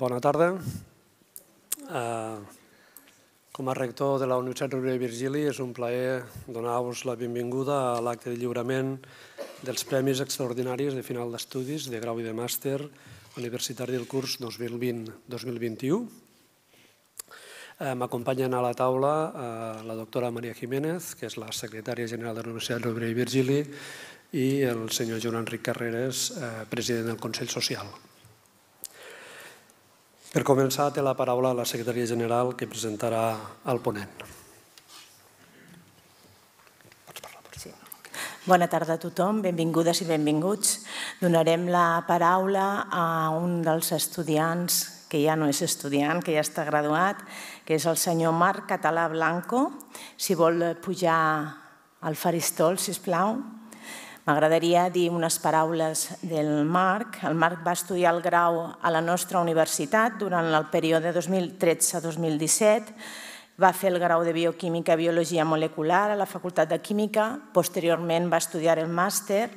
Bona tarda. Com a rector de la Universitat Rovira i Virgili és un plaer donar-vos la benvinguda a l'acte de lliurament dels Premis Extraordinaris de Final d'Estudis de Grau i de Màster Universitari del curs 2020-2021. M'acompanyen a la taula la doctora Maria Jiménez, que és la secretària general de la Universitat Rovira i Virgili, i el senyor Joan Enric Carreras, president del Consell Social. Per començar, té la paraula la secretària general que presentarà el ponent. Bona tarda a tothom, benvingudes i benvinguts. Donarem la paraula a un dels estudiants, que ja no és estudiant, que ja està graduat, que és el senyor Marc Català Blanco. Si vol pujar al faristol, sisplau. M'agradaria dir unes paraules del Marc. El Marc va estudiar el grau a la nostra universitat durant el període 2013-2017. Va fer el grau de Bioquímica i Biologia Molecular a la Facultat de Química. Posteriorment va estudiar el màster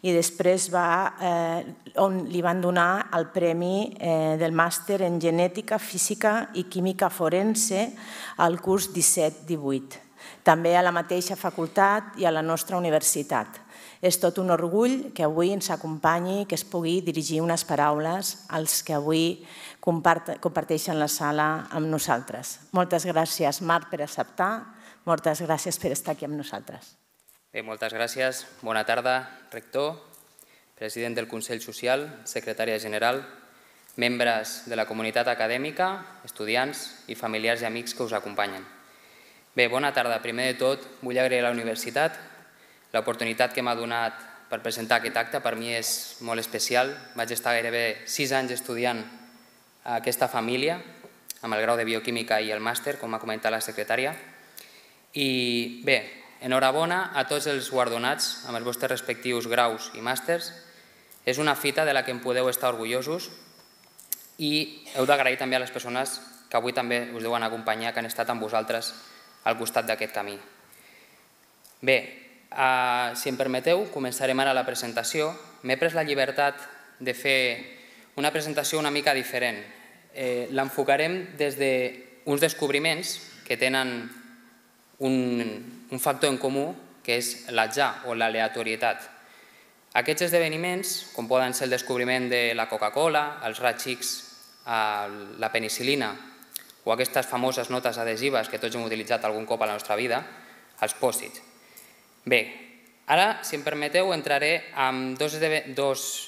i després li van donar el premi del màster en Genètica, Física i Química Forense al curs 17-18. També a la mateixa facultat i a la nostra universitat. És tot un orgull que avui ens acompanyi i que es pugui dirigir unes paraules als que avui comparteixen la sala amb nosaltres. Moltes gràcies, Marc, per acceptar. Moltes gràcies per estar aquí amb nosaltres. Bé, moltes gràcies. Bona tarda, rector, president del Consell Social, secretària general, membres de la comunitat acadèmica, estudiants i familiars i amics que us acompanyen. Bé, bona tarda. Primer de tot, vull agrair a la universitat l'oportunitat que m'ha donat per presentar aquest acte. Per mi és molt especial. Vaig estar gairebé 6 anys estudiant a aquesta família, amb el grau de Bioquímica i el màster, com ha comentat la secretària. I bé, enhorabona a tots els guardonats amb els vostres respectius graus i màsters. És una fita de la que en podeu estar orgullosos i heu d'agrair també a les persones que avui també us deuen acompanyar, que han estat amb vosaltres al costat d'aquest camí. Bé, si em permeteu, començarem ara la presentació. M'he pres la llibertat de fer una presentació una mica diferent. L'enfocarem des d'uns descobriments que tenen un factor en comú, que és l'atzar o l'aleatorietat. Aquests esdeveniments, com poden ser el descobriment de la Coca-Cola, els raigs X, la penicil·lina o aquestes famoses notes adhesives que tots hem utilitzat algun cop a la nostra vida, els pòsit. Bé, ara, si em permeteu, entraré en dos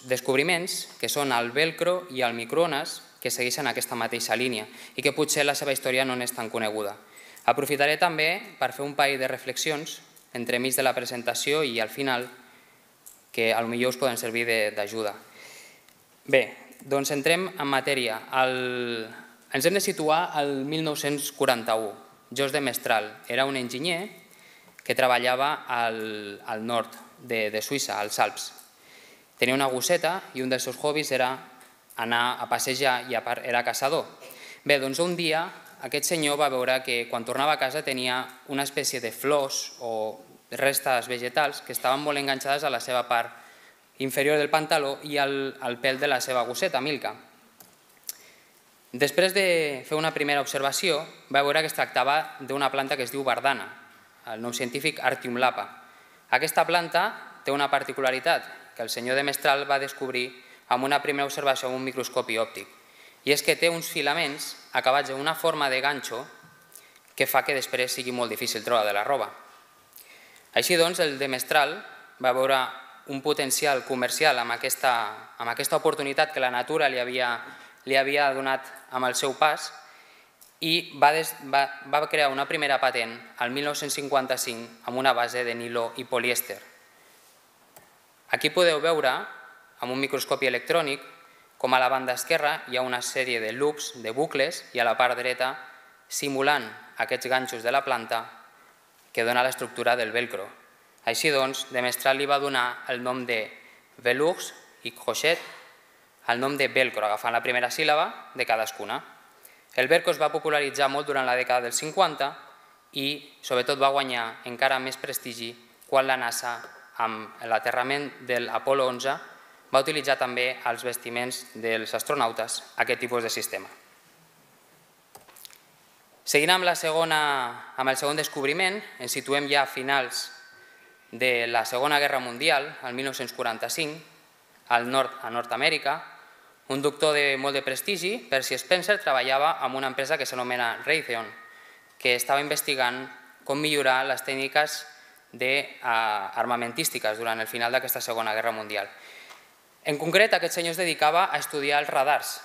descobriments, que són el velcro i el microones, que segueixen aquesta mateixa línia i que potser la seva història no és tan coneguda. Aprofitaré també per fer un parell de reflexions entremig de la presentació i al final, que potser us poden servir d'ajuda. Bé, doncs entrem en matèria. Ens hem de situar al 1941. Jos de Mestral era un enginyer que treballava al nord de Suïssa, als Alps. Tenia una gosseta i un dels seus hobbies era anar a passejar i a part era caçador. Bé, doncs un dia aquest senyor va veure que quan tornava a casa tenia una espècie de flors o restes vegetals que estaven molt enganxades a la seva part inferior del pantaló i al pèl de la seva gosseta, Milka. Després de fer una primera observació, va veure que es tractava d'una planta que es diu bardana, el nom científic Artium lapa. Aquesta planta té una particularitat que el senyor de Mestral va descobrir amb una primera observació amb un microscopi òptic, i és que té uns filaments acabats en una forma de ganxo que fa que després sigui molt difícil treure de la roba. Així doncs, el de Mestral va veure un potencial comercial amb aquesta oportunitat que la natura li havia donat amb el seu pas i va crear una primera patent el 1955 amb una base de niló i polièster. Aquí podeu veure, amb un microscopi electrònic, com a la banda esquerra hi ha una sèrie de loops, de bucles, i a la part dreta, simulant aquests ganxos de la planta que dona l'estructura del velcro. Així doncs, de Mestral li va donar el nom de velours i crochet, el nom de velcro, agafant la primera síl·laba de cadascuna. El velcro es va popularitzar molt durant la dècada dels 50 i sobretot va guanyar encara més prestigi quan la NASA, amb l'aterrament de l'Apolo 11, va utilitzar també als vestiments dels astronautes aquest tipus de sistema. Seguint amb el segon descobriment, ens situem ja a finals de la Segona Guerra Mundial, el 1945, a Nord-Amèrica. Un doctor de molt de prestigi, Percy Spencer, treballava en una empresa que s'anomena Raytheon, que estava investigant com millorar les tècniques armamentístiques durant el final d'aquesta Segona Guerra Mundial. En concret, aquest senyor es dedicava a estudiar els radars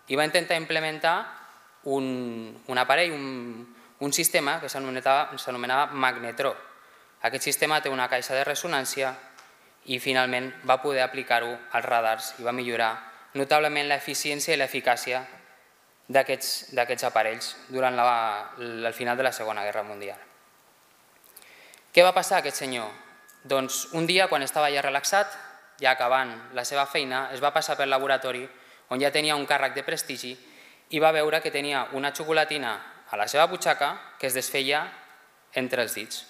i va intentar implementar un aparell, un sistema que s'anomenava magnetró. Aquest sistema té una caixa de ressonància i finalment va poder aplicar-ho als radars i va millorar notablement l'eficiència i l'eficàcia d'aquests aparells durant el final de la Segona Guerra Mundial. Què va passar a aquest senyor? Doncs un dia, quan estava ja relaxat, ja acabant la seva feina, es va passar pel laboratori on ja tenia un càrrec de prestigi i va veure que tenia una xocolatina a la seva butxaca que es desfeia entre els dits.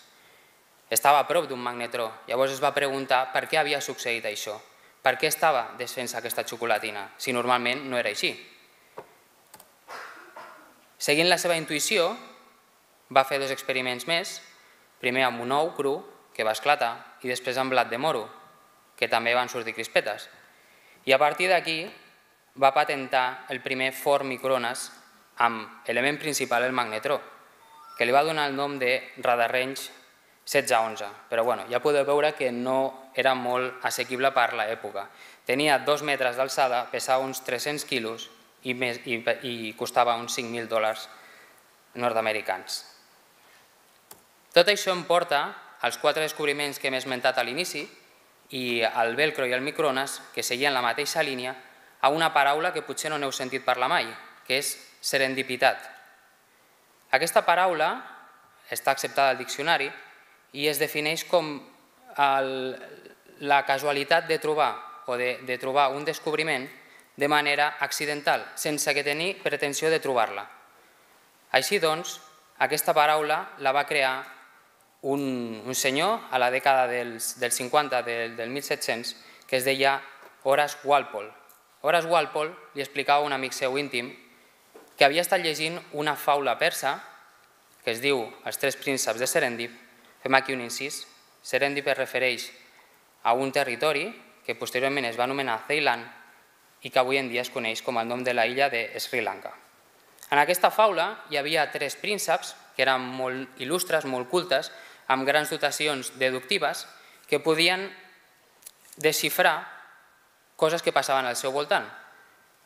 Estava a prop d'un magnetró, llavors es va preguntar per què havia succeït això, per què estava desfent-se aquesta xocolatina, si normalment no era així. Seguint la seva intuïció, va fer 2 experiments més, primer amb un ou cru, que va esclatar, i després amb blat de moro, que també van sortir crispetes. I a partir d'aquí va patentar el primer forn microones amb element principal, el magnetró, que li va donar el nom de Radarange 1611, però ja podeu veure que no era molt assequible per l'època. Tenia 2 metres d'alçada, pesava uns 300 quilos i costava uns $5.000 nord-americans. Tot això em porta als 4 descobriments que hem esmentat a l'inici i el velcro i el microones, que seguien la mateixa línia, a una paraula que potser no n'heu sentit parlar mai, que és serendipitat. Aquesta paraula està acceptada al diccionari i es defineix com la casualitat de trobar un descobriment de manera accidental, sense que tenir pretensió de trobar-la. Així doncs, aquesta paraula la va crear un senyor a la dècada dels 50, del 1700, que es deia Horace Walpole. Horace Walpole li explicava a un amic seu íntim que havia estat llegint una faula persa que es diu Els 3 prínceps de Serendip. Fem aquí un incís. Serendip es refereix a un territori que posteriorment es va anomenar Ceilan i que avui en dia es coneix com el nom de la illa de Sri Lanka. En aquesta faula hi havia 3 prínceps que eren molt il·lustres, molt cultes, amb grans dotacions deductives que podien desxifrar coses que passaven al seu voltant.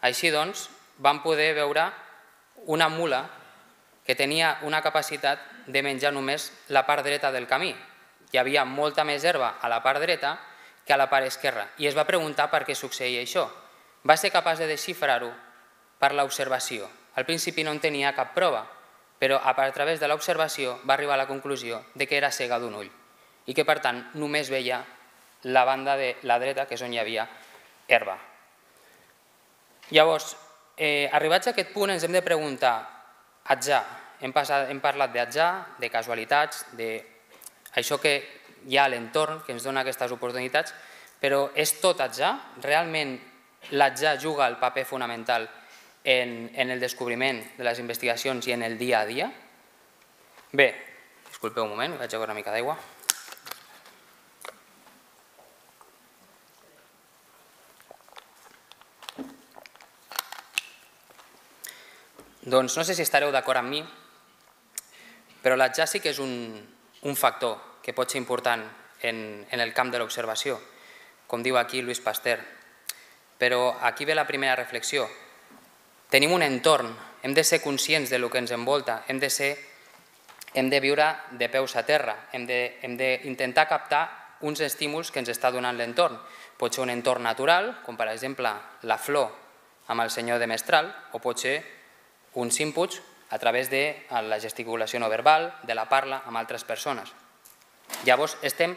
Així doncs, van poder veure una mula que tenia una capacitat de menjar només la part dreta del camí. Hi havia molta més herba a la part dreta que a la part esquerra i es va preguntar per què succeïa això. Va ser capaç de desxifrar-ho per l'observació. Al principi no en tenia cap prova, però a través de l'observació va arribar a la conclusió que era cega d'un ull i que, per tant, només veia la banda de la dreta, que és on hi havia herba. Llavors, arribats a aquest punt, ens hem de preguntar, atzar, hem parlat d'atzar, de casualitats, d'això que hi ha a l'entorn, que ens dona aquestes oportunitats, però és tot atzar? Realment l'atzar juga el paper fonamental en el descobriment de les investigacions i en el dia a dia? Bé, disculpeu un moment, vaig a beure una mica d'aigua. Doncs no sé si estareu d'acord amb mi, però l'atzar sí que és un factor que pot ser important en el camp de l'observació, com diu aquí Louis Pasteur. Però aquí ve la primera reflexió. Tenim un entorn, hem de ser conscients del que ens envolta, hem de viure de peus a terra, hem d'intentar captar uns estímuls que ens està donant l'entorn. Pot ser un entorn natural, com per exemple la flor amb el senyor de Mestral, o pot ser uns inputs a través de la gesticulació no verbal, de la parla amb altres persones. Llavors estem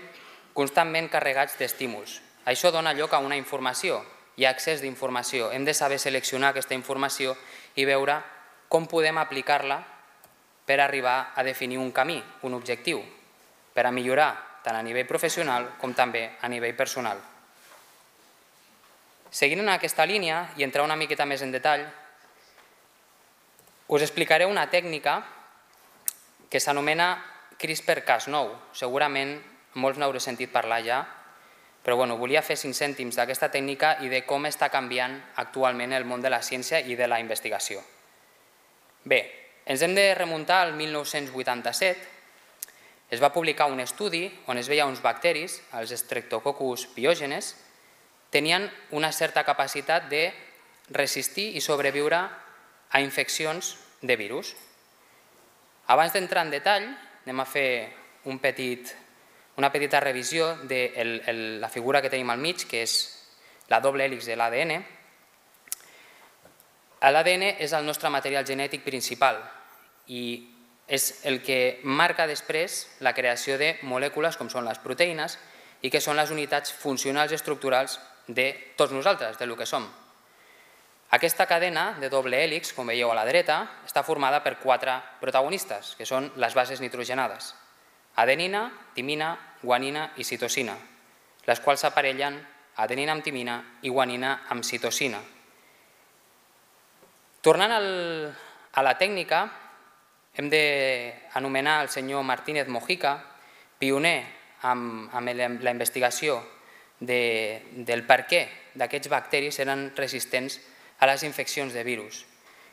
constantment carregats d'estímuls. Això dona lloc a una informació, hi ha accés d'informació. Hem de saber seleccionar aquesta informació i veure com podem aplicar-la per arribar a definir un camí, un objectiu, per a millorar tant a nivell professional com també a nivell personal. Seguint en aquesta línia i entrar una miqueta més en detall, us explicaré una tècnica que s'anomena CRISPR-Cas9. Segurament molts n'haureu sentit parlar ja, però volia fer 5 cèntims d'aquesta tècnica i de com està canviant actualment el món de la ciència i de la investigació. Bé, ens hem de remuntar al 1987. Es va publicar un estudi on es veia uns bacteris, els Streptococcus pyogenes, tenien una certa capacitat de resistir i sobreviure a infeccions de virus. Abans d'entrar en detall, anem a fer una petita revisió de la figura que tenim al mig, que és la doble hèlix de l'ADN. L'ADN és el nostre material genètic principal i és el que marca després la creació de molècules com són les proteïnes i que són les unitats funcionals i estructurals de tots nosaltres, del que som. Aquesta cadena de doble hèlix, com veieu a la dreta, està formada per 4 protagonistes, que són les bases nitrogenades: adenina, timina, guanina i citosina, les quals s'aparellen adenina amb timina i guanina amb citosina. Tornant a la tècnica, hem d'anomenar el senyor Martínez Mojica, pioner amb la investigació del per què d'aquests bacteris eren resistents a les infeccions de virus.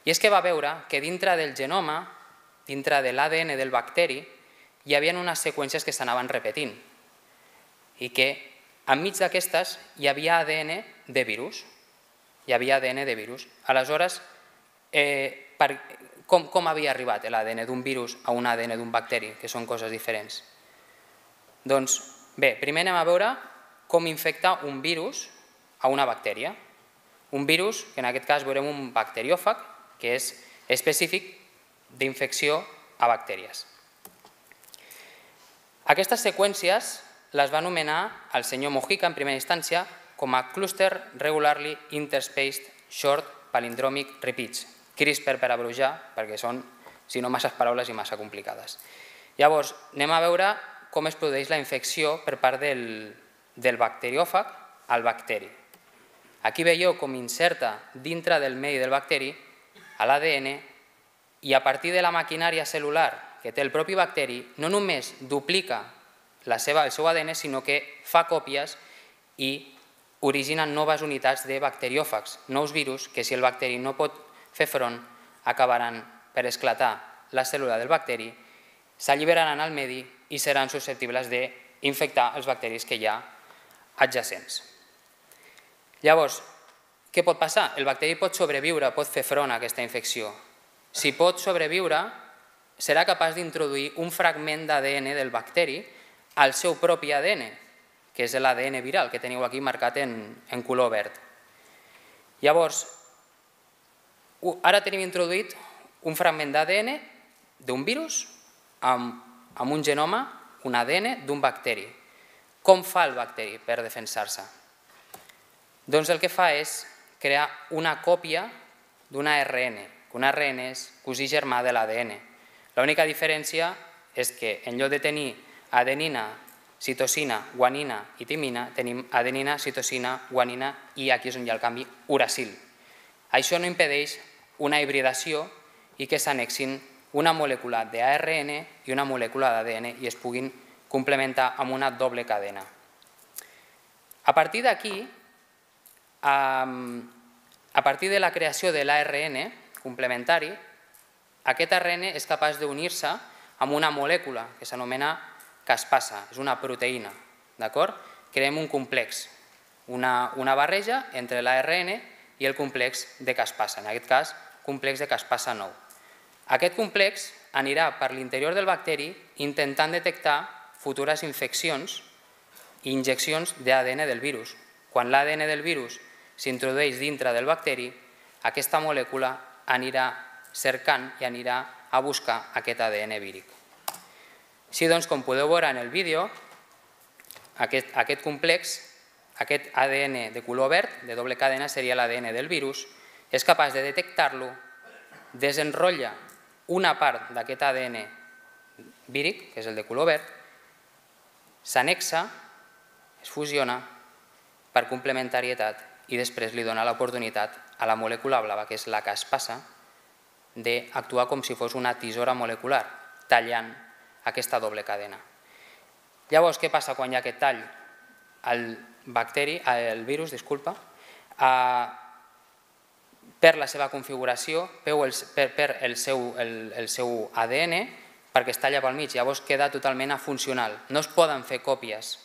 I és que va veure que dintre del genoma, dintre de l'ADN del bacteri, hi havia unes seqüències que s'anaven repetint i que enmig d'aquestes hi havia ADN de virus. Aleshores, com havia arribat l'ADN d'un virus a un ADN d'un bacteri, que són coses diferents? Doncs bé, primer anem a veure com infecta un virus a una bactèria. Un virus, que en aquest cas veurem un bacteriòfag, que és específic d'infecció a bactèries. Aquestes seqüències les va anomenar el senyor Mojica en primera instància com a Cluster Regularly Interspaced Short Palindromic Repeats, CRISPR per abreviar, perquè són, si no, massa paraules i massa complicades. Llavors, anem a veure com es produeix la infecció per part del bacteriòfag al bacteri. Aquí veieu com inserta dintre del medi del bacteri l'ADN i a partir de la maquinària cel·lular que té el propi bacteri no només duplica el seu ADN, sinó que fa còpies i originen noves unitats de bacteriòfags, nous virus que si el bacteri no pot fer front acabaran per esclatar la cèl·lula del bacteri, s'alliberaran al medi i seran susceptibles d'infectar els bacteris que hi ha adjacents. Llavors, què pot passar? El bacteri pot sobreviure, pot fer front a aquesta infecció. Si pot sobreviure, serà capaç d'introduir un fragment d'ADN del bacteri al seu propi ADN, que és l'ADN viral, que teniu aquí marcat en color verd. Llavors, ara tenim introduït un fragment d'ADN d'un virus amb un genoma, un ADN d'un bacteri. Com fa el bacteri per defensar-se? Doncs el que fa és crear una còpia d'un ARN, que un ARN és cosí germà de l'ADN. L'única diferència és que en lloc de tenir adenina, citosina, guanina i timina, tenim adenina, citosina, guanina i aquí és on hi ha el canvi, uracil. Això no impedeix una hibridació i que s'annexin una molècula d'ARN i una molècula d'ADN i es puguin complementar amb una doble cadena. A partir d'aquí, a partir de la creació de l'ARN complementari, aquest ARN és capaç d'unir-se amb una molècula que s'anomena caspasa, és una proteïna. Creem un complex, una barreja entre l'ARN i el complex de caspasa, en aquest cas, complex de caspasa 9. Aquest complex anirà per l'interior del bacteri intentant detectar futures infeccions i injeccions d'ADN del virus. Quan l'ADN del virus s'introdueix dintre del bacteri, aquesta molècula anirà cercant i anirà a buscar aquest ADN víric. Així doncs, com podeu veure en el vídeo, aquest complex, aquest ADN de color verd, de doble cadena, seria l'ADN del virus, és capaç de detectar-lo, desenrotlla una part d'aquest ADN víric, que és el de color verd, s'annexa, es fusiona per complementarietat i després li dona l'oportunitat a la molècula blava, que és la que es passa, d'actuar com si fos una tisora molecular, tallant aquesta doble cadena. Llavors, què passa quan hi ha aquest tall? El virus perd la seva configuració, perd el seu ADN perquè es talla pel mig, llavors queda totalment afuncional. No es poden fer còpies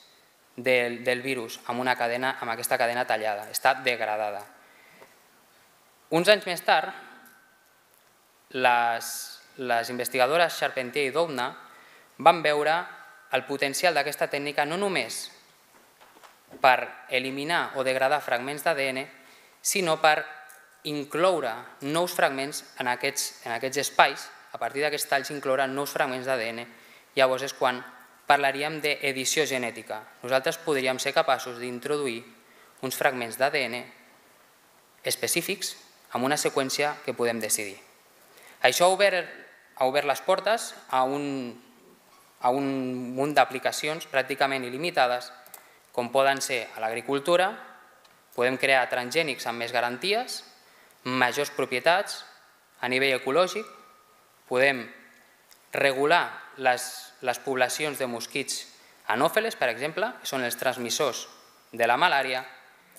del virus amb aquesta cadena tallada, està degradada. Uns anys més tard, les investigadores Charpentier i Doudna van veure el potencial d'aquesta tècnica no només per eliminar o degradar fragments d'ADN, sinó per incloure nous fragments en aquests espais, a partir d'aquests talls incloure nous fragments d'ADN. Llavors és quan parlaríem d'edició genètica. Nosaltres podríem ser capaços d'introduir uns fragments d'ADN específics amb una seqüència que podem decidir. Això ha obert les portes a un munt d'aplicacions pràcticament il·limitades, com poden ser a l'agricultura, podem crear transgènics amb més garanties, majors propietats, a nivell ecològic, podem regular les poblacions de mosquits anòfeles, per exemple, que són els transmissors de la malària,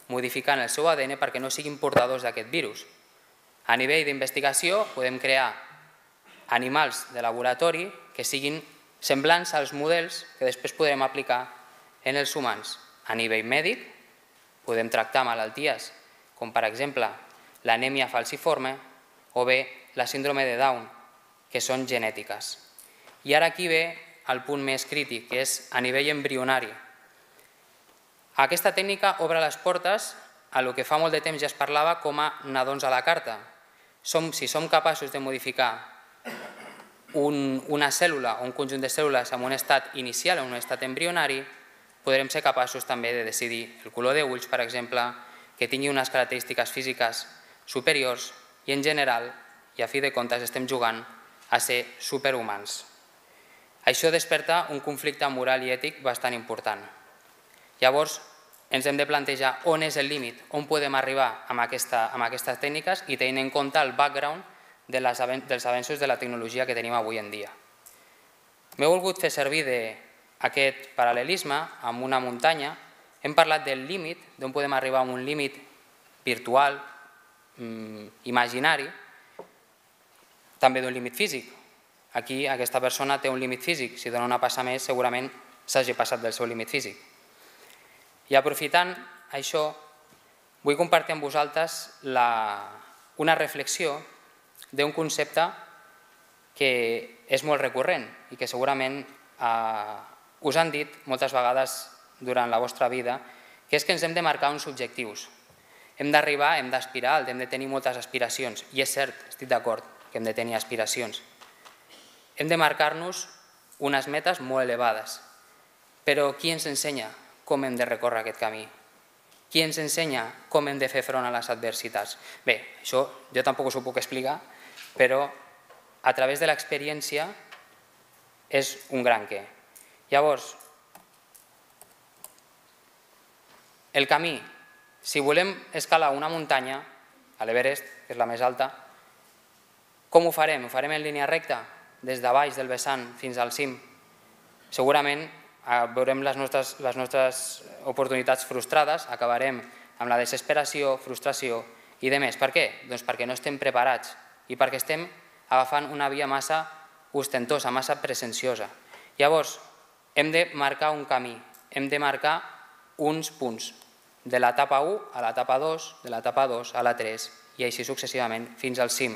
modificant el seu ADN perquè no siguin portadors d'aquest virus. A nivell d'investigació podem crear animals de laboratori que siguin semblants als models que després podrem aplicar en els humans. A nivell mèdic podem tractar malalties com per exemple l'anèmia falciforme o bé la síndrome de Down, que són genètiques. I ara aquí ve el punt més crític, que és a nivell embrionari. Aquesta tècnica obre les portes a el que fa molt de temps ja es parlava com a nadons a la carta. Si som capaços de modificar una cèl·lula o un conjunt de cèl·lules en un estat inicial o en un estat embrionari, podrem ser capaços també de decidir el color d'ulls, per exemple, que tingui unes característiques físiques superiors i en general, i a fi de comptes, estem jugant a ser superhumans. Això desperta un conflicte moral i ètic bastant important. Llavors, ens hem de plantejar on és el límit, on podem arribar amb aquestes tècniques i tenint en compte el background dels avenços de la tecnologia que tenim avui en dia. M'he volgut fer servir d'aquest paral·lelisme amb una muntanya. Hem parlat del límit, d'on podem arribar a un límit virtual, imaginari, també d'un límit físic. Aquí aquesta persona té un límit físic, si dona una passa més segurament s'hagi passat del seu límit físic. I aprofitant això, vull compartir amb vosaltres una reflexió d'un concepte que és molt recurrent i que segurament us han dit moltes vegades durant la vostra vida, que és que ens hem de marcar uns objectius. Hem d'arribar, hem d'aspirar, hem de tenir moltes aspiracions. I és cert, estic d'acord que hem de tenir aspiracions. Hem de marcar-nos unes metes molt elevades. Però qui ens ensenya com hem de recórrer aquest camí? Qui ens ensenya com hem de fer front a les adversitats? Bé, això jo tampoc us ho puc explicar, però a través de l'experiència és un gran què. Llavors, el camí, si volem escalar una muntanya, a l'Everest, que és la més alta, com ho farem? Ho farem en línia recta, des de baix del vessant fins al cim? Segurament veurem les nostres oportunitats frustrades, acabarem amb la desesperació, frustració i de més. Per què? Doncs perquè no estem preparats i perquè estem agafant una via massa ostentosa, massa presenciosa. Llavors, hem de marcar un camí, hem de marcar uns punts, de l'etapa 1 a l'etapa 2, de l'etapa 2 a la 3 i així successivament fins al cim.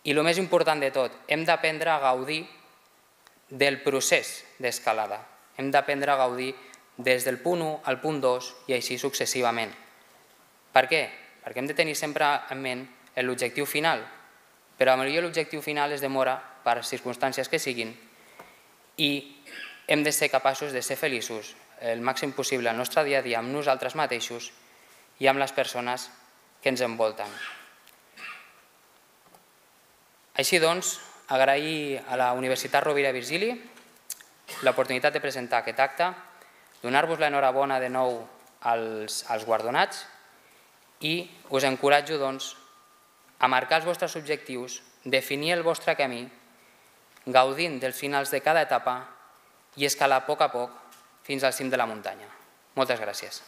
I el més important de tot, hem d'aprendre a gaudir del procés d'escalada. Hem d'aprendre a gaudir des del punt 1 al punt 2 i així successivament. Per què? Perquè hem de tenir sempre en ment l'objectiu final, però potser l'objectiu final es demora per circumstàncies que siguin i hem de ser capaços de ser feliços el màxim possible al nostre dia a dia amb nosaltres mateixos i amb les persones que ens envolten. Així doncs, agrair a la Universitat Rovira i Virgili l'oportunitat de presentar aquest acte, donar-vos l'enhorabona de nou als guardonats i us encoratjo a marcar els vostres objectius, definir el vostre camí, gaudint dels finals de cada etapa i escalar a poc fins al cim de la muntanya. Moltes gràcies.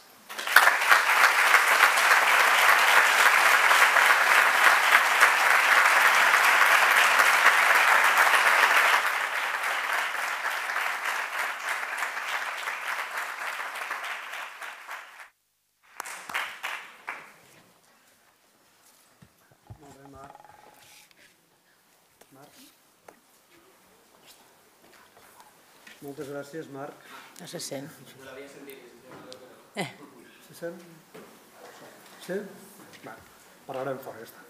Moltes gràcies, Marc. No se sent. Se sent? Sí? Parlarem fora, ja està.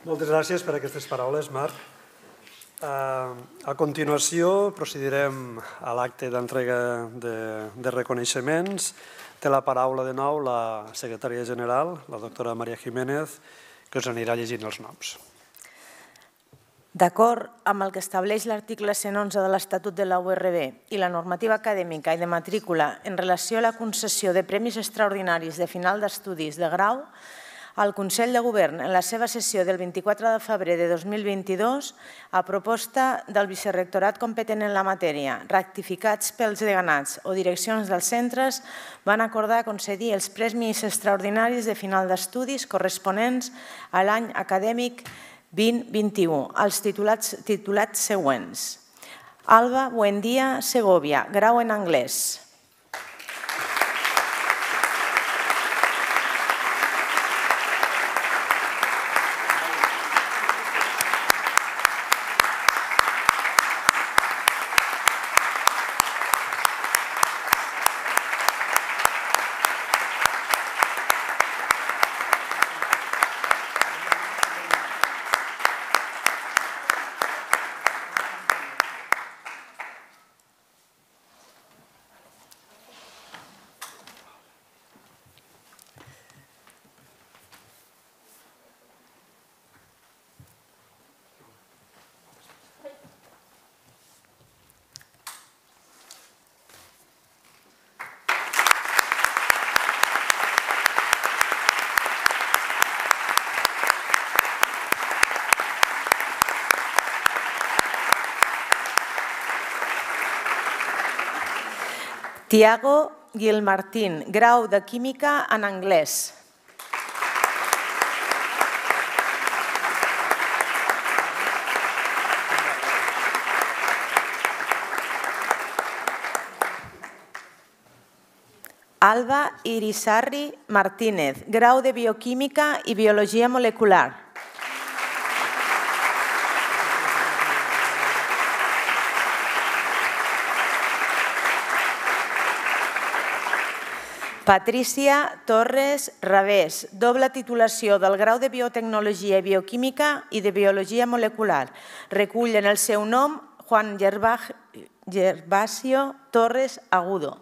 Moltes gràcies per aquestes paraules, Marc. A continuació procedirem a l'acte d'entrega de reconeixements. Té la paraula de nou la secretària general, la doctora Maria Jiménez, que us anirà llegint els noms. D'acord amb el que estableix l'article 111 de l'Estatut de la URB i la normativa acadèmica i de matrícula en relació a la concessió de premis extraordinaris de final d'estudis de grau, el Consell de Govern, en la seva sessió del 24 de febrer de 2022, a proposta del vicerrectorat competent en la matèria, rectificats pels deganats o direccions dels centres, van acordar concedir els premis extraordinaris de final d'estudis corresponents a l'any acadèmic 2021, els titulats següents. Alba Buendía Segovia, grau en anglès. Tiago Gilmartín, grau de Química en anglès. Alba Irisarri Martínez, grau de Bioquímica i Biologia Molecular. Patricia Torres Rabés, doble titulació del grau de Biotecnologia i Bioquímica i de Biologia Molecular. Recull en el seu nom Juan Gervasio Torres Agudo.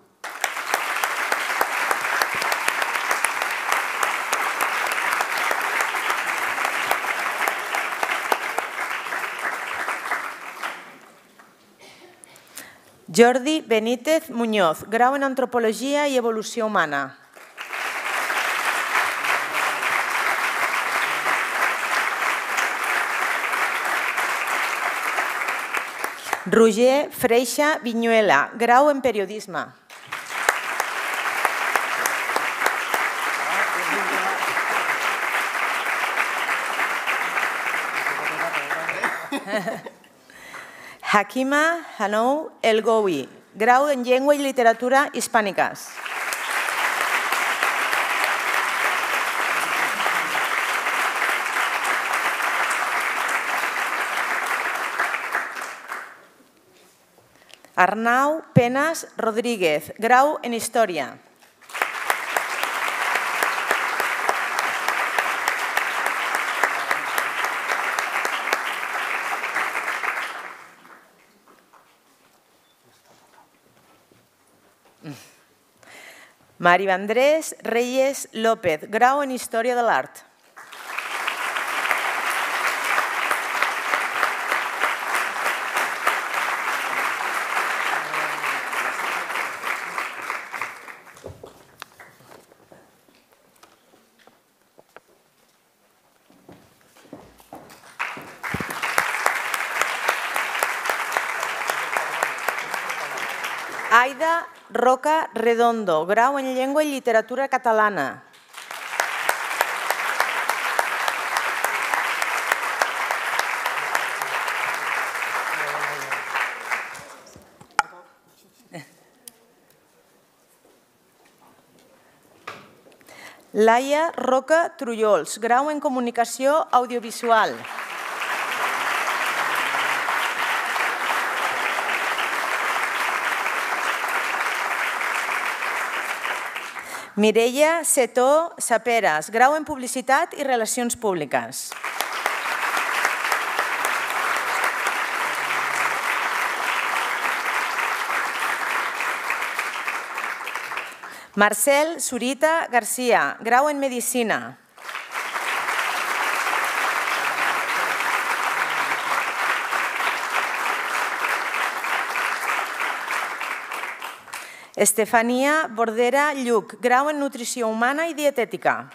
Jordi Benítez Muñoz, grau en Antropologia i Evolució Humana. Roger Freixa Viñuela, grau en Periodisme. Hakima Hanou El Goui, grau en Llengua i Literatura Hispàniques. Arnau Penas Rodríguez, grau en Història. Mario Andrés Reyes López, grau en Història de l'Art. Aida Roca Redondo, grau en Llengua i Literatura Catalana. Laia Roca Trullols, grau en Comunicació Audiovisual. Mireia Setó Saperas, grau en Publicitat i Relacions Públiques. Marcel Zurita García, grau en Medicina. Estefania Bordera Lluc, grau en Nutrició Humana i Dietètica.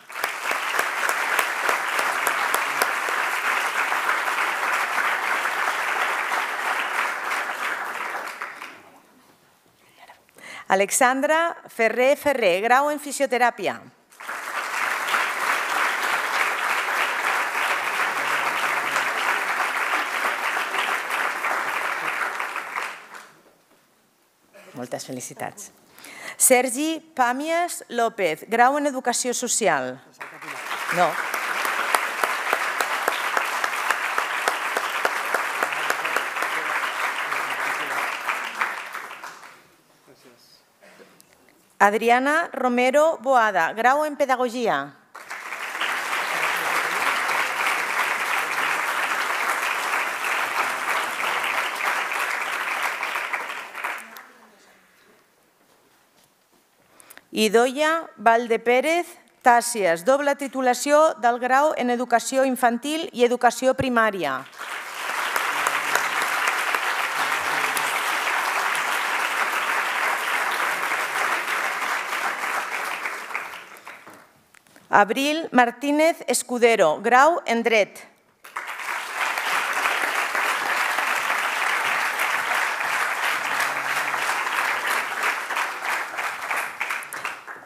Alexandra Ferrer Ferrer, grau en Fisioteràpia. Moltes felicitats. Sergi Pàmies López, grau en Educació Social. No. Adriana Romero Boada, grau en Pedagogia. Idoia Valdepérez Tàcies, doble titulació del grau en Educació Infantil i Educació Primària. Abril Martínez Escudero, grau en Dret.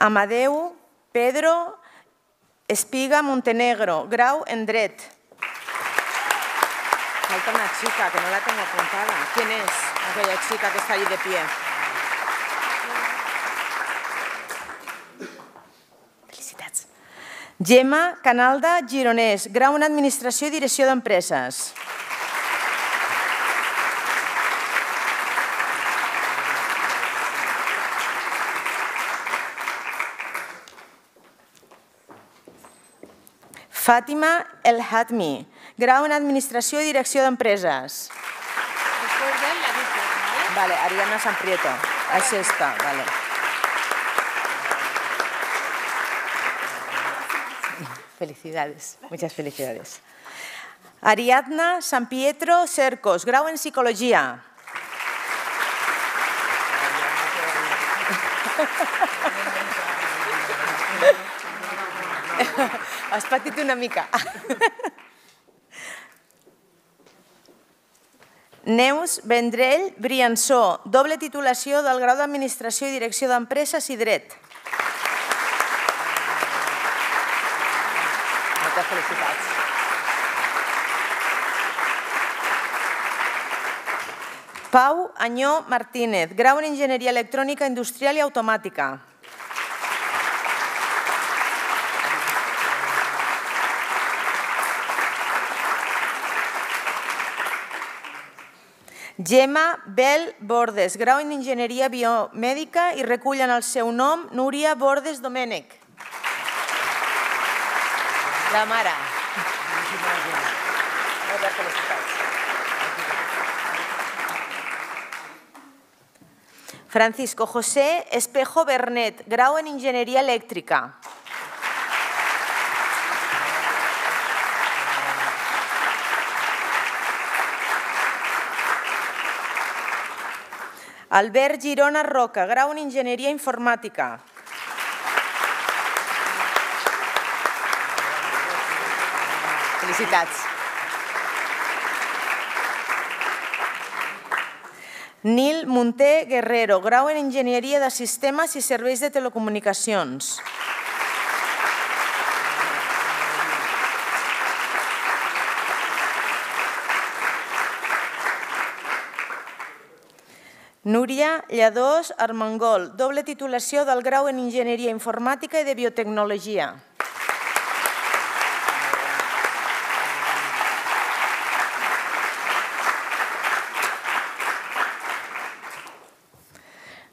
Amadeu Pedro Espiga Montenegro, grau en Dret. Falta una chica que no la tengo apuntada. ¿Quién es aquella chica que está ahí de pie? Felicitats. Gemma Canalda Gironès, grau en Administració i Direcció d'Empreses. Fàtima El Hatmi, grau en Administració i Direcció d'Empreses. Vale, Ariana Samprieto. Es esta, vale. Felicidades, muchas felicidades. Ariadna San Pietro Cercos, grau en Psicologia. Has patit una mica. Neus Vendrell Briansó, doble titulació del grau d'Administració i Direcció d'Empreses i Dret. Moltes felicitats. Pau Añó Martínez, grau en Enginyeria Electrònica Industrial i Automàtica. Gemma Bel Bordes, grau en Enginyeria Biomèdica i recull en el seu nom Núria Bordes Domènech. La mare. Moltes felicitats. Francisco José Espejo Bernet, grau en Enginyeria Elèctrica. Albert Girona Roca, grau en Enginyeria Informàtica. Felicitats. Nil Munté Guerrero, grau en Enginyeria de Sistemes i Serveis de Telecomunicacions. Núria Lladós Armengol, doble titulació del grau en Enginyeria Informàtica i de Biotecnologia.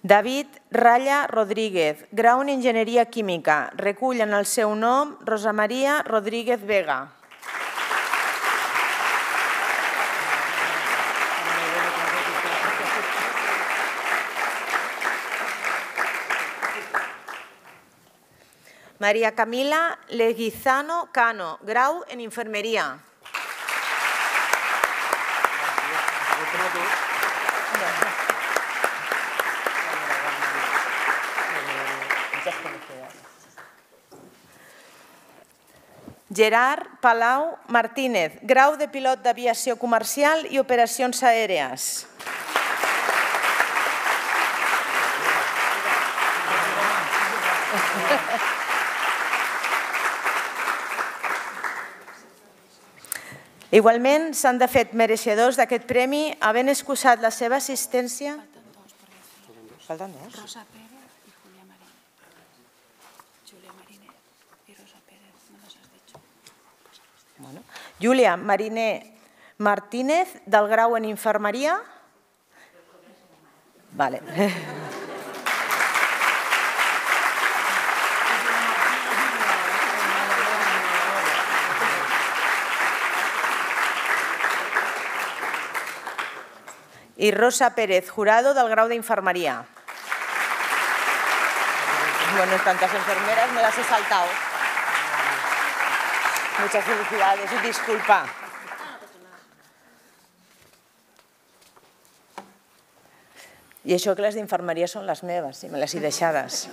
David Ralla Rodríguez, grau en Enginyeria Química. Recull en el seu nom Rosa Maria Rodríguez Vega. María Camila Leguizano Cano, grau en Infermeria. Gerard Palau Martínez, grau de pilot d'aviació comercial i operacions aèries. Igualment, s'han de fet mereixedors d'aquest premi havent excusat la seva assistència... Falten dos. Rosa Pérez i Julia Marínez. Julia Marínez i Rosa Pérez, no les has dicho. Julia Marínez Martínez, del grau en Infermeria. Vale. Y Rosa Pérez Jurado, del grau de Infermería. Bueno, tantas enfermeras me las he saltado. Muchas felicidades y disculpa. I això que les d'infermeria són les meves, si me les he deixades.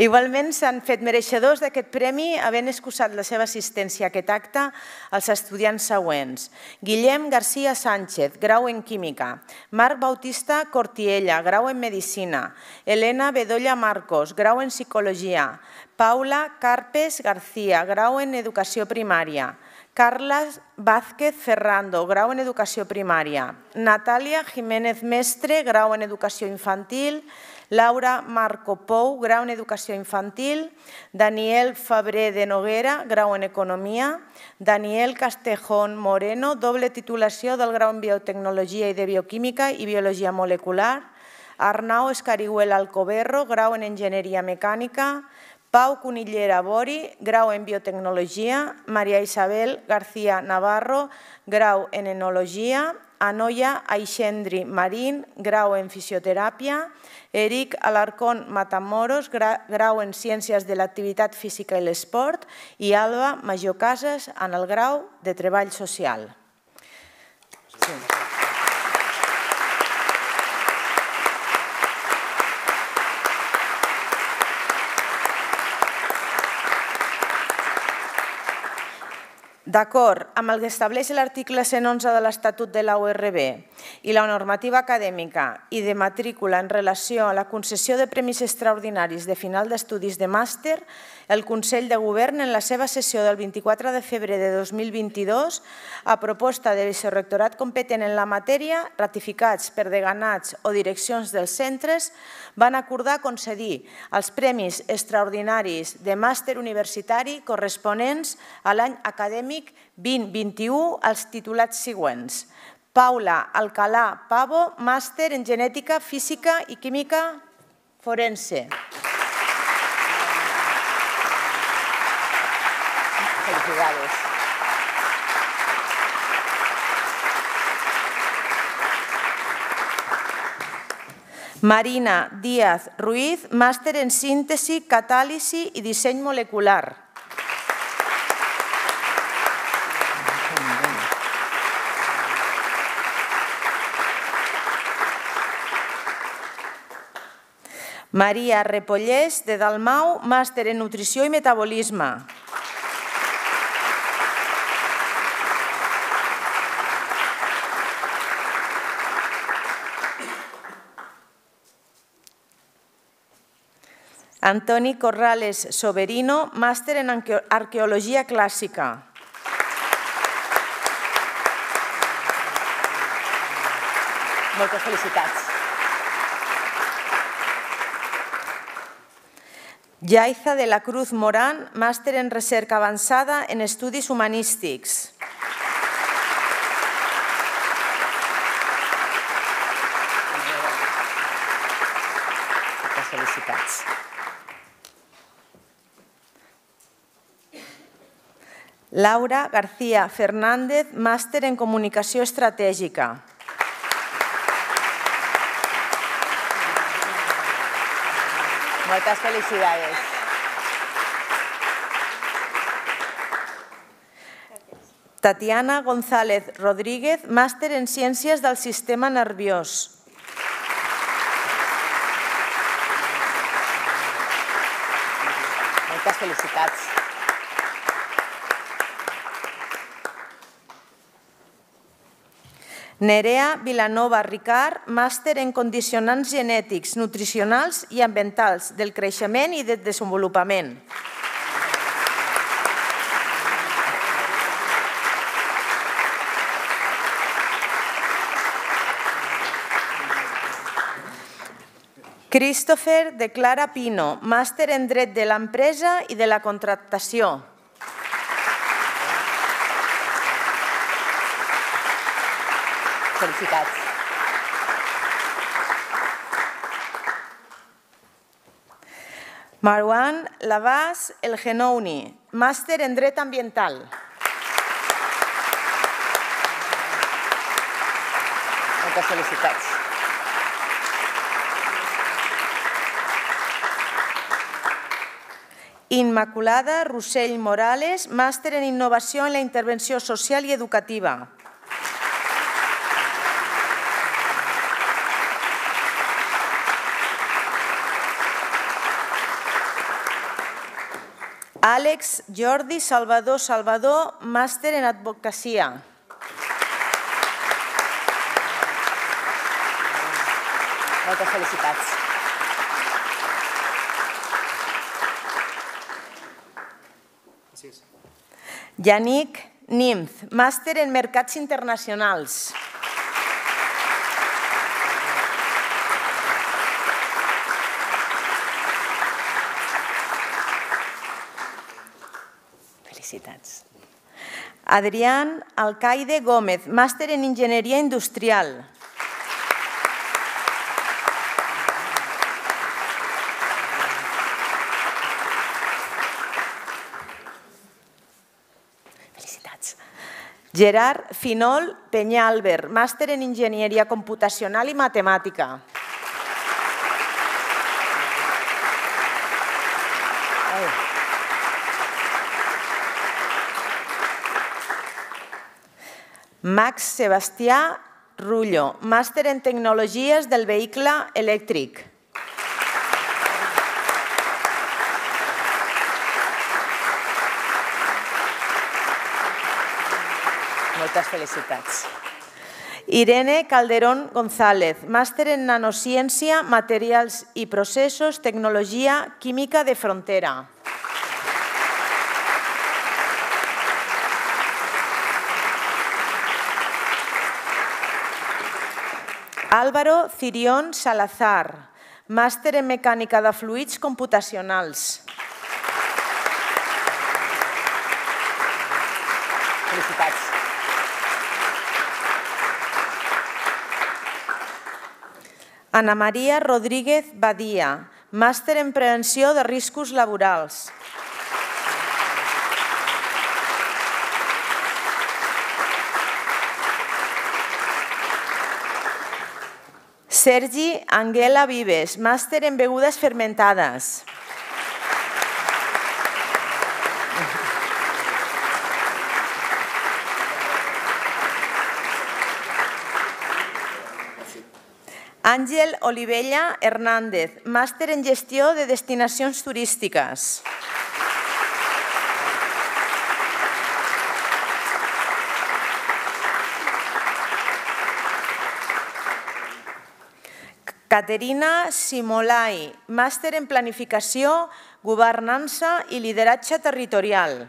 Igualment s'han fet mereixedors d'aquest premi havent excusat la seva assistència a aquest acte als estudiants següents. Guillem García Sánchez, grau en Química. Marc Bautista Cortiella, grau en Medicina. Elena Bedolla Marcos, grau en Psicologia. Paula Carpes García, grau en Educació Primària. Carles Vázquez Ferrando, grau en Educació Primària. Natàlia Jiménez Mestre, grau en Educació Infantil. Laura Marco Pou, grau en Educació Infantil. Daniel Fabrer de Noguera, grau en Economia. Daniel Castejón Moreno, doble titulació del grau en Biotecnologia i de Bioquímica i Biologia Molecular. Arnau Escarihuela Alcoberro, grau en Enginyeria Mecànica. Pau Cunillera Bori, grau en Biotecnologia. María Isabel García Navarro, grau en Enologia. Anoia Aixendri Marín, grau en Fisioteràpia. Eric Alarcón Matamoros, grau en Ciències de l'Activitat Física i l'Esport. I Alba Major Casas, en el grau de Treball Social. D'acord amb el que estableix l'article 111 de l'Estatut de la URB i la normativa acadèmica i de matrícula en relació a la concessió de premis extraordinaris de final d'estudis de màster, el Consell de Govern, en la seva sessió del 24 de febrer de 2022, a proposta del vicerectorat competent en la matèria, ratificats per deganats o direccions dels centres, van acordar concedir els premis extraordinaris de màster universitari corresponents a l'any acadèmic 2021 als titulats següents. Paula Alcalá Pavo, màster en Genètica, Física i Química Forense. Felicidades. Marina Díaz Ruiz, màster en Síntesi, Catàlisi i Disseny Molecular. Maria Repollés, de Dalmau, màster en Nutrició i Metabolisme. Antoni Corrales Soberino, màster en Arqueologia Clàssica. Moltes felicitats. Yaiza de la Cruz Morán, màster en Recerca Avançada en Estudis Humanístics. Moltes felicitats. Laura García Fernández, màster en Comunicació Estratègica. Moltes felicidades. Tatiana González Rodríguez, màster en Ciències del Sistema Nerviós. Moltes felicitats. Nerea Vilanova Ricard, màster en Condicionants Genètics, Nutricionals i Ambientals del Creixement i del Desenvolupament. Christopher de Clara Pino, màster en Dret de l'Empresa i de la Contractació. Felicitats. Marwan Labas El Genouni, màster en Dret Ambiental. Moltes felicitats. Immaculada Rossell Morales, màster en Innovació en la Intervenció Social i Educativa. Àlex Jordi Salvador, màster en Advocacia. Moltes felicitats. Yannick Nimz, màster en Mercats Internacionals. Felicitats. Adrián Alcaide Gómez, màster en Enginyeria Industrial. Felicitats. Gerard Finol Peñalver, màster en Enginyeria Computacional i Matemàtica. Max Sebastià Rullo, màster en Tecnologies del Vehicle Elèctric. Moltes felicitats. Irene Calderón González, màster en Nanociència, Materials i Processos, Tecnologia Química de Frontera. Álvaro Cirión Salazar, màster en Mecànica de Fluids Computacionals. Felicitats. Ana Maria Rodríguez Badia, màster en Prevenció de Riscos Laborals. Sergi Anguela Vives, màster en Begudes Fermentades. Àngel Olivella Hernández, màster en Gestió de Destinacions Turístiques. Caterina Simolai, màster en Planificació, Governança i Lideratge Territorial.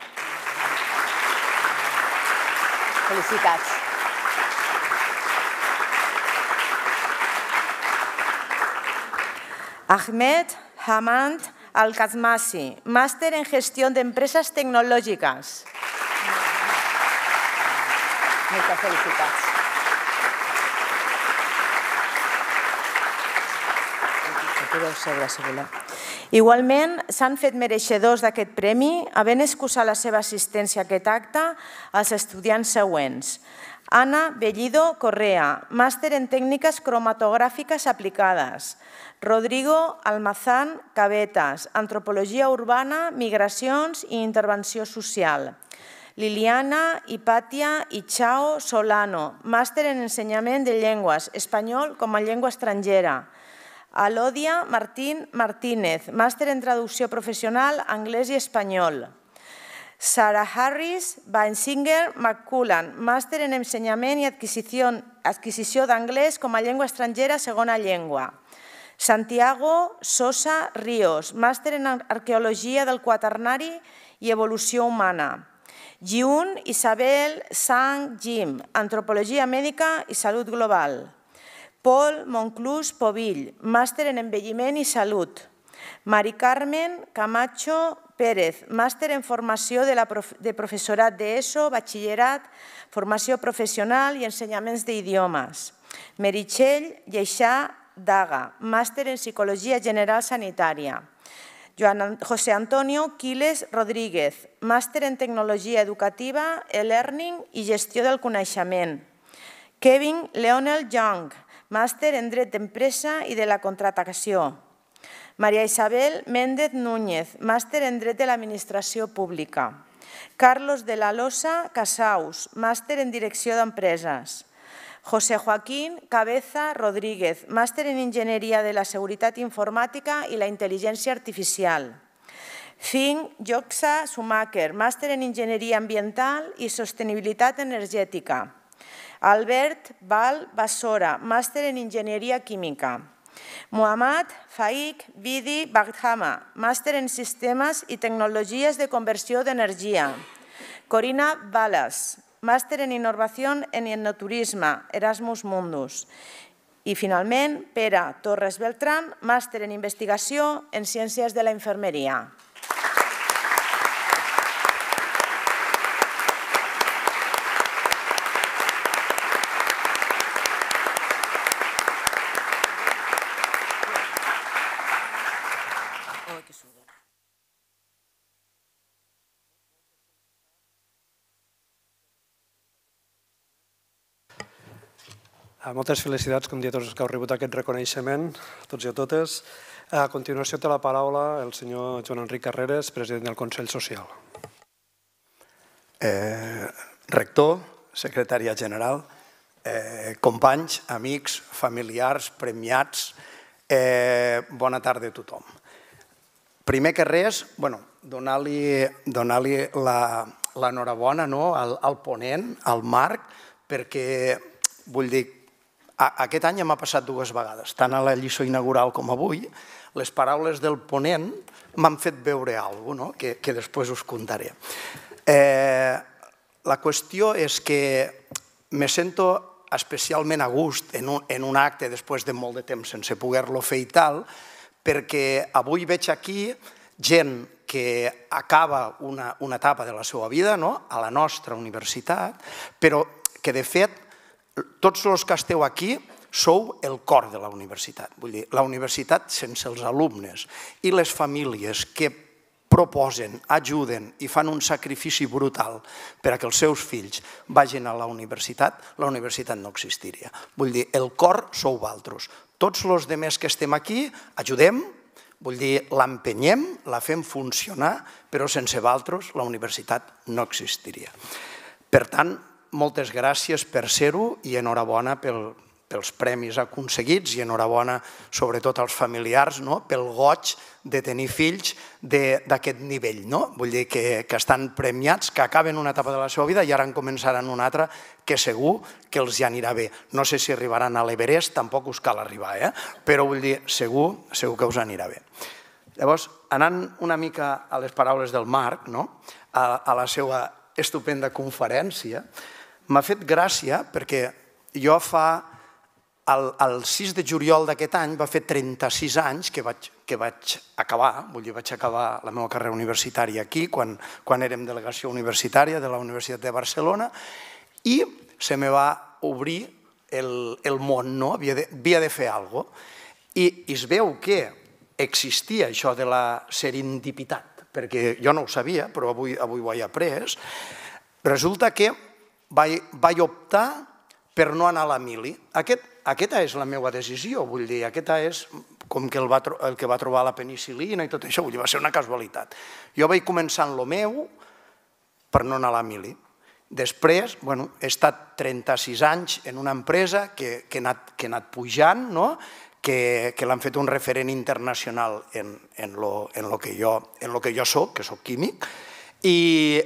Felicitats. Ahmed Hamad Al-Kazmasi, máster en Gestión de Empresas Tecnológicas. Moltes felicitats. Igualment, s'han fet mereixedors d'aquest premi, havent excusat la seva assistència a aquest acte, als estudiants següents. Ana Bellido Correa, màster en Tècniques Cromatogràfiques Aplicades. Rodrigo Almazán Cabetas, Antropologia Urbana, Migracions i Intervenció Social. Liliana Hipàtia Ichao Solano, màster en Ensenyament de Llengües, Espanyol com a llengua estrangera. Alodia Martín Martínez, màster en Traducció Professional, Anglès i Espanyol. Sarah Harris Weinsinger McCullan, màster en Ensenyament i Adquisició d'Anglès com a llengua estrangera, segona llengua. Santiago Sosa Ríos, màster en Arqueologia del Quaternari i Evolució Humana. Jiun Isabel Sang Jim, Antropologia Mèdica i Salut Global. Paul Monclús Povill, màster en Envelliment i Salut. Mari Carmen Camacho Pérez, màster en Formació de Professorat d'ESO, Batxillerat, Formació Professional i Ensenyaments d'Idiomes. Meritxell Lleixà Daga, màster en Psicologia General Sanitària. José Antonio Quiles Rodríguez, màster en Tecnologia Educativa, e-Learning i Gestió del Coneixement. Kevin Leonel Young, màster en Dret d'Empresa i de la Contractació. Maria Isabel Méndez Núñez, màster en Dret de l'Administració Pública. Carlos de la Losa Casaus, màster en Direcció d'Empreses. José Joaquín Cabeza Rodríguez, màster en Enginyeria de la Seguretat Informàtica i la Intel·ligència Artificial. Finn Joxa Schumacher, màster en Enginyeria Ambiental i Sostenibilitat Energètica. Albert Val Bassora, màster en Enginyeria Química. Muhammad Faik Vidi Baghama, màster en Sistemes i Tecnologies de Conversió d'Energia. Corina Balas, màster en Innovació en Enoturisme, Erasmus Mundus. I finalment, Pere Torres Beltrán, màster en Investigació en Ciències de la Infermeria. Moltes felicitats, com dia, a tots els que heu rebut aquest reconeixement, a tots i a totes. A continuació té la paraula el senyor Joan Enric Carreras, president del Consell Social. Rector, secretària general, companys, amics, familiars, premiats, bona tarda a tothom. Primer que res, donar-li l'enhorabona al ponent, al Marc, perquè, vull dir, aquest any m'ha passat dues vegades, tant a la lliçó inaugural com avui, les paraules del ponent m'han fet veure alguna cosa que després us contaré. La qüestió és que me sento especialment a gust en un acte després de molt de temps sense poder-lo fer i tal, perquè avui veig aquí gent que acaba una etapa de la seva vida a la nostra universitat, però que de fet tots els que esteu aquí sou el cor de la universitat. Vull dir, la universitat sense els alumnes i les famílies que proposen, ajuden i fan un sacrifici brutal per a que els seus fills vagin a la universitat no existiria. Vull dir, el cor sou vosaltres. Tots els altres que estem aquí ajudem, vull dir, l'empenyem, la fem funcionar, però sense vosaltres la universitat no existiria. Per tant, moltes gràcies per ser-ho i enhorabona per pels premis aconseguits i enhorabona sobretot als familiars pel goig de tenir fills d'aquest nivell. Vull dir que estan premiats, que acaben una etapa de la seva vida i ara en començaran una altra que segur que els hi anirà bé. No sé si arribaran a l'Everest, tampoc us cal arribar, però vull dir, segur que us anirà bé. Llavors, anant una mica a les paraules del Marc, a la seva estupenda conferència, m'ha fet gràcia perquè jo el 6 de juliol d'aquest any va fer 36 anys que vaig acabar, vull dir, vaig acabar la meva carrera universitària aquí, quan érem delegació universitària de la Universitat de Barcelona, i se me va obrir el món, havia de fer alguna cosa. I es veu que existia això de la serendipitat, perquè jo no ho sabia, però avui ho he après. Resulta que vaig optar per no anar a la mili. Aquesta és la meva decisió, vull dir, aquesta és com que el que va trobar la penicil·lina i tot això, vull dir, va ser una casualitat. Jo vaig començar en el meu per no anar a la mili. Després, he estat 36 anys en una empresa que he anat pujant, que l'han fet un referent internacional en el que jo soc, que soc químic, i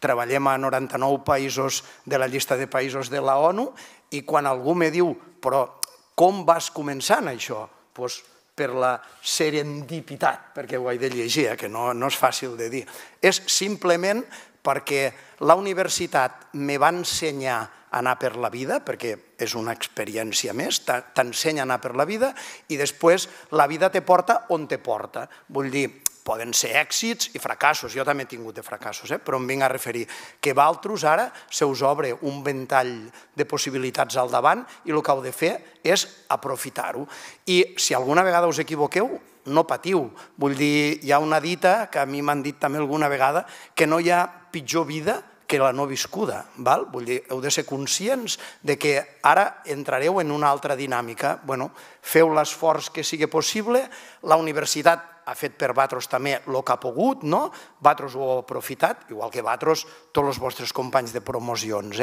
treballem a 99 països de la llista de països de la ONU, i quan algú me diu, però com vas començar en això? Doncs per la serendipitat, perquè ho he de llegir, que no és fàcil de dir. És simplement perquè la universitat me va ensenyar a anar per la vida, perquè és una experiència més, t'ensenya a anar per la vida, i després la vida te porta on te porta. Vull dir, poden ser èxits i fracassos, jo també he tingut de fracassos, però em vinc a referir que vosaltres ara se us obre un ventall de possibilitats al davant i el que heu de fer és aprofitar-ho. I si alguna vegada us equivoqueu, no patiu. Vull dir, hi ha una dita que a mi m'han dit també alguna vegada, que no hi ha pitjor vida que la no viscuda. Vull dir, heu de ser conscients que ara entrareu en una altra dinàmica. Feu l'esforç que sigui possible, la universitat ha fet per vosaltres també el que ha pogut, vosaltres ho heu aprofitat, igual que vosaltres, tots els vostres companys de promocions.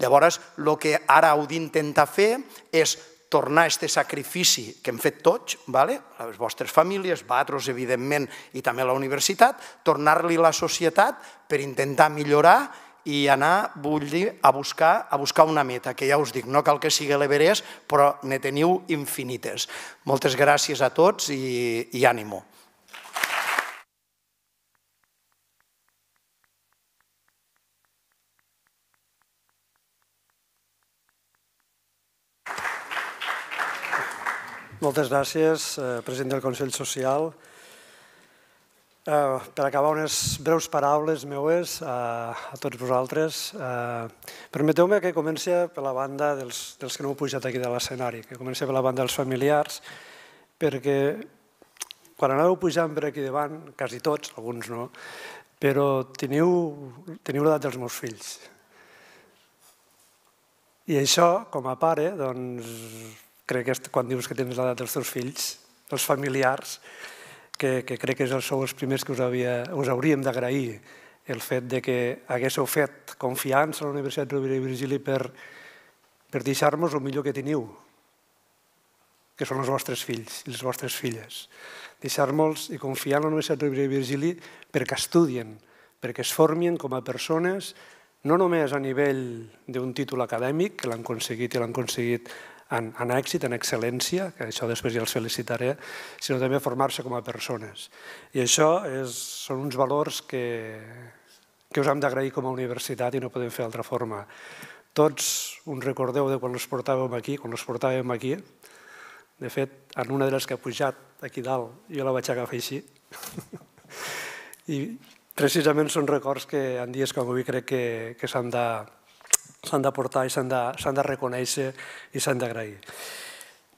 Llavors, el que ara heu d'intentar fer és tornar a aquest sacrifici que hem fet tots, les vostres famílies, vosaltres, evidentment, i també la universitat, tornar-li a la societat per intentar millorar i anar, vull dir, a buscar una meta, que ja us dic, no cal que sigui l'Everest, però ne teniu infinites. Moltes gràcies a tots i ànimo. Moltes gràcies, president del Consell Social. Per acabar, unes breus paraules meues a tots vosaltres. Permeteu-me que comenci per la banda dels que no heu pujat aquí de l'escenari, que comenci per la banda dels familiars, perquè quan anàveu pujant per aquí davant, quasi tots, alguns no, però teniu l'edat dels meus fills. I això, com a pare, doncs, crec que quan dius que tens l'edat dels teus fills, els familiars, que crec que sou els primers que us hauríem d'agrair el fet que haguéssiu fet confiança a la Universitat Rovira i Virgili per deixar-nos el millor que teniu, que són els vostres fills i les vostres filles. Deixar-nos i confiar en la Universitat Rovira i Virgili perquè estudien, perquè es formin com a persones, no només a nivell d'un títol acadèmic, que l'han aconseguit i l'han aconseguit en èxit, en excel·lència, que això després ja els felicitaré, sinó també formar-se com a persones. I això són uns valors que us hem d'agrair com a universitat i no podem fer d'altra forma. Tots us recordeu de quan els portàvem aquí, de fet, en una de les que ha pujat aquí dalt, jo la vaig agafar així, i precisament són records que en dies com avui crec que s'han de portar i s'han de reconèixer i s'han d'agrair.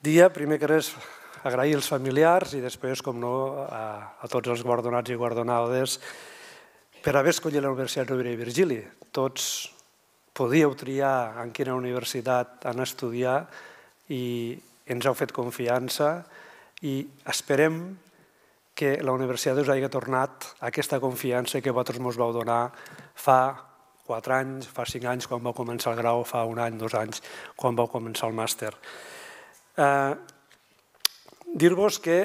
Dia, primer que res, agrair als familiars i després, com no, a tots els guardonats i guardonades per haver escollit la Universitat Rovira i Virgili. Tots podíeu triar en quina universitat anar a estudiar i ens heu fet confiança i esperem que la universitat us hagi tornat aquesta confiança que vosaltres ens vau donar fa 4 anys, fa 5 anys quan vau començar el grau, fa 1 any, 2 anys quan vau començar el màster. Dir-vos que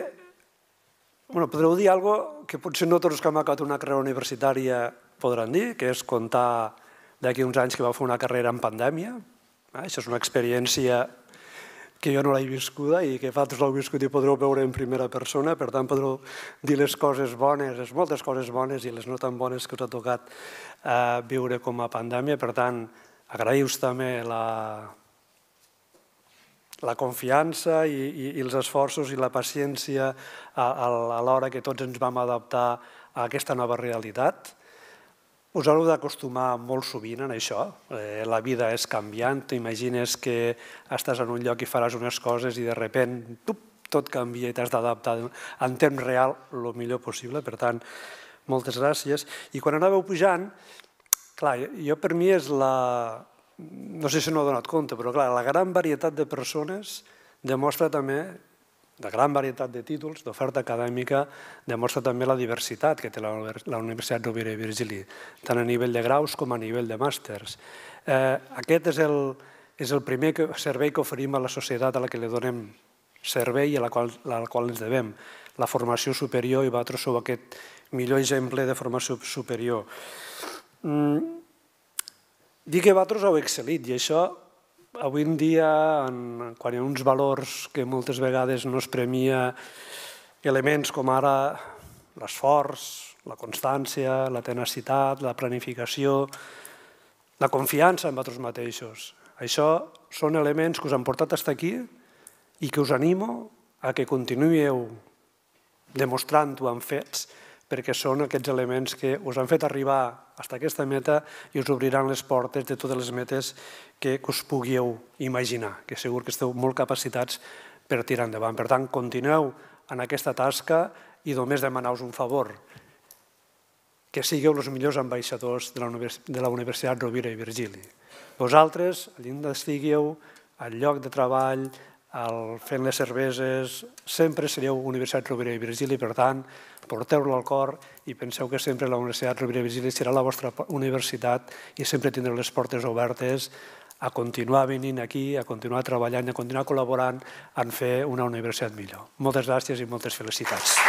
podreu dir alguna cosa que potser no tots que hem acabat una carrera universitària podran dir, que és contar d'aquí uns anys que vau fer una carrera en pandèmia. Això és una experiència que jo no l'he viscuda i que vosaltres l'heu viscut i podreu veure en primera persona, per tant podreu dir les coses bones, les moltes coses bones i les no tan bones que us ha tocat viure com a pandèmia. Per tant, agraïu-vos també la confiança i els esforços i la paciència a l'hora que tots ens vam adaptar a aquesta nova realitat. Us haureu d'acostumar molt sovint en això. La vida és canviant. T'imagines que estàs en un lloc i faràs unes coses i de sobte tot canvia i t'has d'adaptar en temps real el millor possible. Per tant, moltes gràcies. I quan anàveu pujant, clar, jo per mi és no sé si no he donat compte, però clar, la gran varietat de persones demostra també, la gran varietat de títols, d'oferta acadèmica, demostra també la diversitat que té la Universitat Rovira i Virgili, tant a nivell de graus com a nivell de màsters. Aquest és el primer servei que oferim a la societat a la que li donem servei i a la qual ens devem, la formació superior, i vosaltres sou aquest millor exemple de formació superior. Dir que vosaltres heu excel·lit i això avui en dia, quan hi ha uns valors que moltes vegades no es premia, elements com ara l'esforç, la constància, la tenacitat, la planificació, la confiança en vosaltres mateixos. Això són elements que us han portat fins aquí i que us animo a que continuïu demostrant-ho amb fets, perquè són aquests elements que us han fet arribar fins a aquesta meta i us obriran les portes de totes les metes que us pugueu imaginar, que segur que esteu molt capacitats per tirar endavant. Per tant, continueu en aquesta tasca i només demaneu-vos un favor, que sigueu els millors ambaixadors de la Universitat Rovira i Virgili. Vosaltres, allà estigueu, al lloc de treball, fent les cerveses, sempre sereu Universitat Rovira i Virgili, per tant, porteu-lo al cor i penseu que sempre la Universitat Rovira i Virgili serà la vostra universitat i sempre tindreu les portes obertes a continuar venint aquí, a continuar treballant, a continuar col·laborant en fer una universitat millor. Moltes gràcies i moltes felicitats.